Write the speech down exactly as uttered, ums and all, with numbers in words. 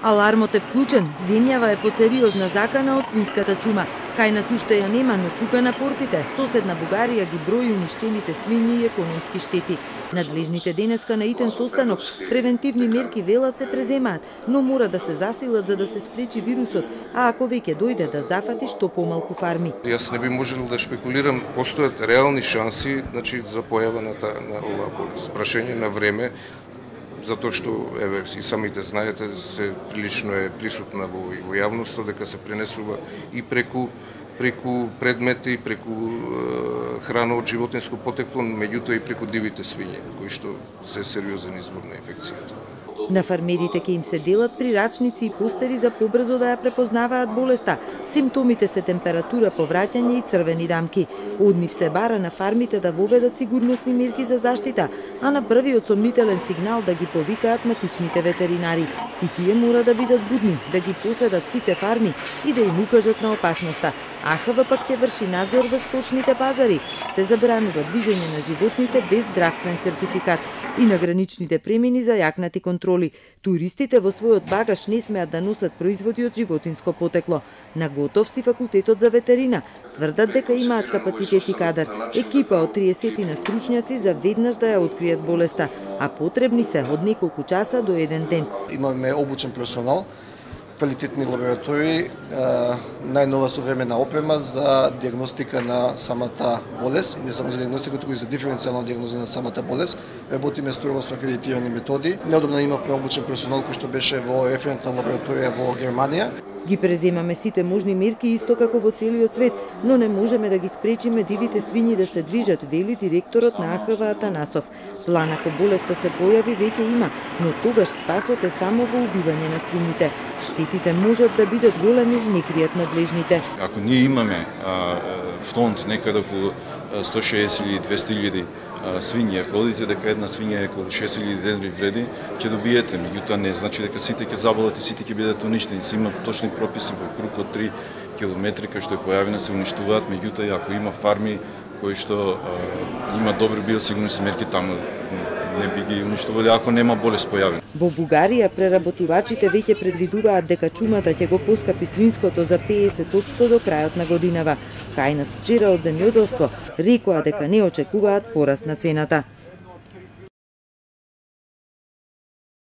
Алармот е вклучен, земјава е под сериозна закана од свинската чума. Кај нас уште ја нема, но чука на портите. Соседна Бугарија ги брои уништените свињи и економски штети. Надлежните денеска на итен состанок превентивни мерки велат се преземаат, но мора да се засилат за да се спречи вирусот, а ако веќе дојде да зафати што помалку фарми. Јас не би можел да шпекулирам, постојат реални шанси, значи за појава на таа на оваа болест. Прашање на време, затоа што еве и самите знаете се прилично е присутна во, во јавноста дека се пренесува и преку преку предмети, преку е, храна од животинско потекло, меѓутоа и преку дивите свињи, кои што се сериозен извор на инфекцијата. На фармерите ќе им се делат прирачници и постери за побрзо да ја препознаваат болеста. Симптомите се температура, повраќање и црвени дамки. Од нив се бара на фармите да воведат сигурносни мерки за заштита, а на првиот сомнителен сигнал да ги повикаат матичните ветеринари. И тие мора да бидат будни, да ги поседат сите фарми и да им укажат на опасноста. А Х В пак ќе врши надзор во сточните пазари. Се забранува движење на животните без здравствен сертификат и на граничните премини за јакнати контроли. Туристите во својот багаж не смеат да носат производи од животинско потекло. На готов си факултетот за ветерина. Тврдат дека имаат капацитет и кадар. Екипа од триесет стручњаци за веднаш да ја откријат болеста, а потребни се од неколку часа до еден ден. Имаме обучен персонал, квалитетни лаборатории, најнова современа опрема за диагностика на самата болест, не само за диагностика, туку и за диференцијална диагноза на самата болест. Работиме строго со акредитирани методи. Неодамна имавме обучен персонал кој што беше во референтна лабораторија во Германија. Ги преземаме сите можни мерки исто како во целиот свет, но не можеме да ги спречиме дивите свињи да се движат, вели директорот на А Х В Атанасов. План ако болеста се појави веќе има, но тогаш спасот е само во убивање на свињите. Штетите можат да бидат големи, не кријат надлежните. Ако ние имаме а, фонд некаде околу сто и шеесет или двесте илјади свињи, ако одите дека една свиња е околу шест илјади денари вреди, ќе добиете, меѓутоа не значи дека сите ќе заболат и сите ќе бидат уништени. Се има точни прописи во круг од три километри кај што е појавена се уништуваат, меѓутоа ако има фарми кои што а, има добри биосигурnosни мерки, таму не би ги уништувале ако нема болест појавена. Во Бугарија преработувачите веќе предвидуваат дека чумата ќе го поскапи свинското за педесет одсто до крајот на годинава. Кај нас вчера од земјоделство рекоа дека не очекуваат пораст на цената.